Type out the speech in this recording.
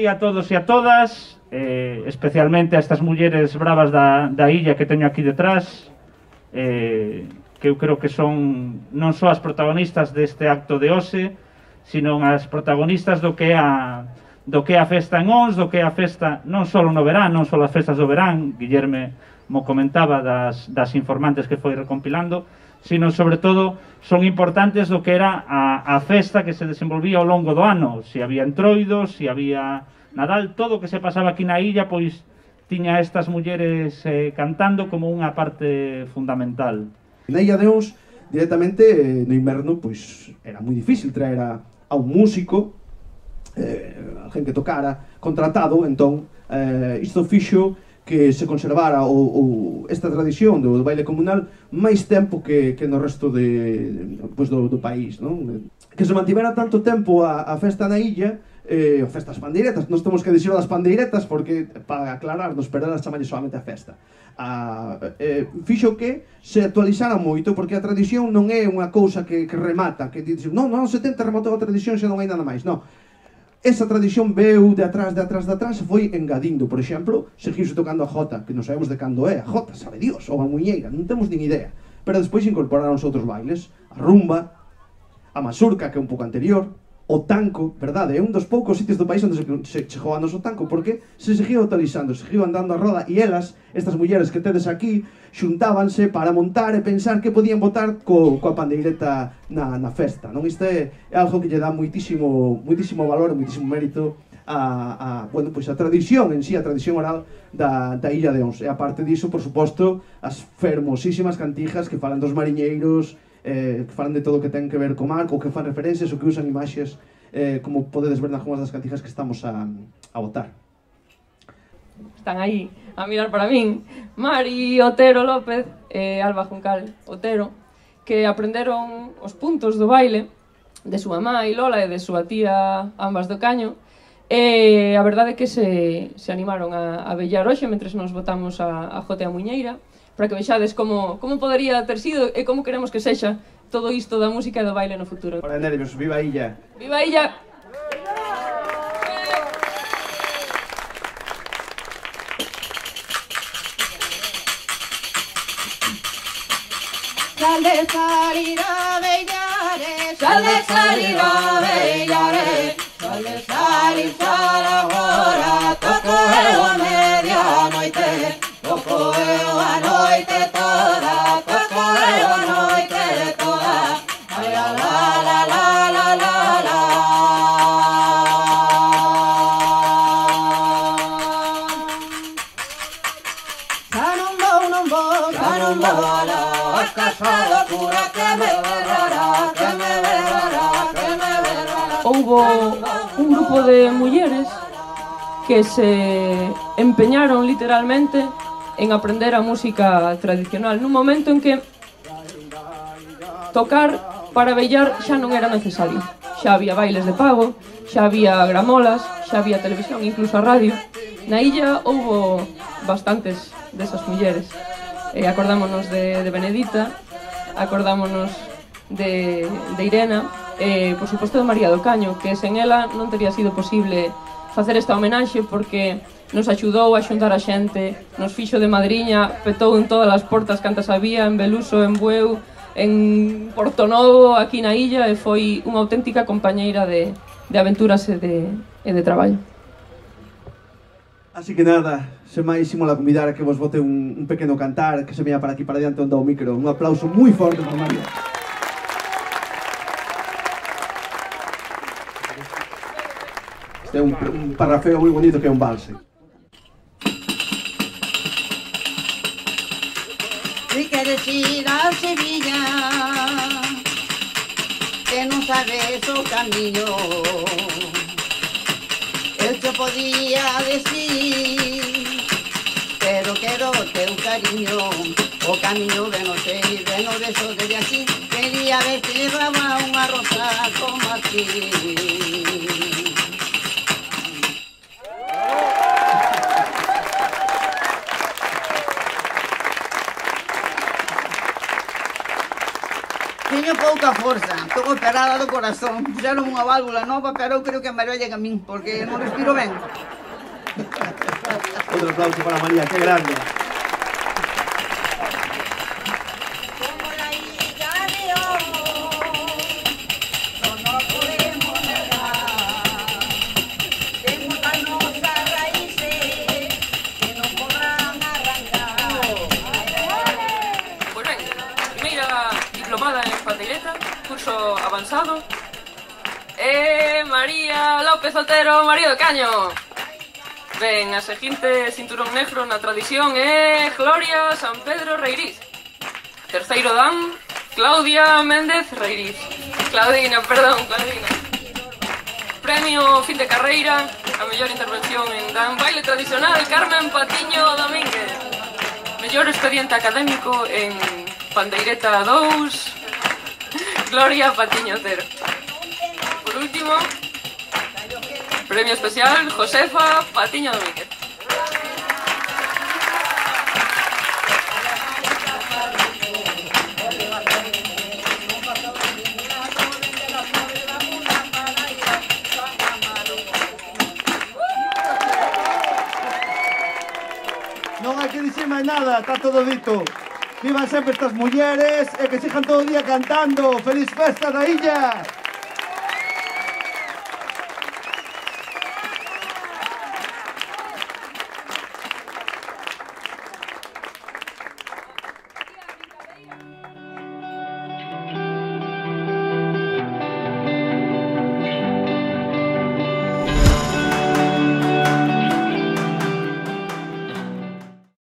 día a todos e a todas, especialmente a estas mulleres bravas da illa que teño aquí detrás, que eu creo que son non só as protagonistas deste acto de hoxe, sino as protagonistas do que é a festa en Ons, do que é a festa non só no verán, non só as festas do verán, Guillerme mo comentaba das informantes que foi recompilando, sino sobre todo son importantes do que era a festa que se desenvolvía ao longo do ano. Se había entroidos, se había Nadal, todo o que se pasaba aquí na illa, pois tiña estas mulleres cantando como unha parte fundamental. Na illa de Ons, directamente, no inverno, pois era moi difícil traer a un músico, alguén que tocara, contratado, entón, isto fixo que se conservara esta tradición do baile comunal máis tempo que no resto do país, non? Que se mantivera tanto tempo a festa na illa, a festa das pandeiretas, nós temos que dicir das pandeiretas porque, para aclararnos, pero elas chamanlle solamente a festa, fixo que se actualizara moito, porque a tradición non é unha cousa que remata, que dice, non, nos anos 70 rematou a tradición, xa non hai nada máis, non. Esa tradición veu de atrás e foi engadindo. Por exemplo, seguiuse tocando a jota, que non sabemos de cando é a jota, sabe Dios, ou a muñeira, non temos nin idea. Pero despois incorporaron outros bailes, a rumba, a masurca, que é un pouco anterior, o tanco, verdade, é un dos poucos sitios do país onde se chegou a noso tanco, porque se seguía utilizando, seguía andando a roda, e elas, estas mulleres que tedes aquí, xuntábanse para montar e pensar que podían botar coa pandeireta na festa, non? Isto é algo que lle dá moitísimo valor e moitísimo mérito bueno, pois a tradición en sí, a tradición oral da illa de Ons. E aparte diso, por suposto, as fermosísimas cantijas que falan dos mariñeiros, que falan de todo o que ten que ver co mar, ou que fan referencias, ou que usan imaxes, como podedes ver nalgúnas das cantijas que estamos a botar. Están aí a mirar para min Mari Otero López e Alba Juncal Otero, que aprenderon os puntos do baile de súa mãe Lola e de súa tía ambas do Caño, e a verdade é que se animaron a vellar hoxe mentre nos botamos a jota e a muñeira, para que vexades como podería ter sido e como queremos que sexa todo isto da música e do baile no futuro. Ora, nervios, viva a illa! Viva a illa! Sal de salir a bellare, sal de salir a bellare, sal de salir para agora, toco eu a medianoite, toco eu a noite toda, toco eu a noite toda, ai la la la la la la la. Non vou, casado cura que me verrará, que me verrará, que me verrará. Houbo un grupo de mulleres que se empeñaron literalmente en aprender a música tradicional nun momento en que tocar para vellar xa non era necesario. Xa había bailes de pago, xa había gramolas, xa había televisión, incluso a radio. Na illa houbo bastantes desas mulleres. Acordámonos de Benedita, acordámonos de Irena, e, por suposto, de María do Caño, que sen ela non teria sido posible facer esta homenaxe, porque nos axudou a xuntar a xente, nos fixo de madriña, petou en todas as portas cantas había, en Beluso, en Bueu, en Portonovo, aquí na illa, e foi unha auténtica compañeira de aventuras e de traballo. Así que nada, sen máis imos a convidar a que vos bote un pequeno cantar, que se veña para aquí para diante onde o micro. Un aplauso moi forte para María. Este é un parrafeo moi bonito que é un valse. Si queres ir a Sevilla, que non sabes o camiño, eu te podía decir, pero quero o teu cariño, o camiño de non sei, de non deso desde aquí, quería verte llevaba unha rosa como aquí. Teño pouca forza. Estou operada do corazón. Puxeron unha válvula nova, pero eu creo que me merollen a min, porque non respiro ben. Outro aplauso para María, que grande. Curso avanzado María López Otero, María do Caño. Ben, a seguinte cinturón negro na tradición é Gloria San Pedro Reiriz. Terceiro dan Claudia Méndez Reiriz. Claudina. Premio fin de carreira a mellor intervención en dan baile tradicional Carmen Patiño Domínguez. Mellor expediente académico en pandeireta 2 Gloria Patiño Otero. Por último, premio especial Josefa Patiño Domínguez. Non hai que dicir máis nada, está todo dito. Vivan sempre estas mulleres e que sigan todo o día cantando. Feliz festa da illa!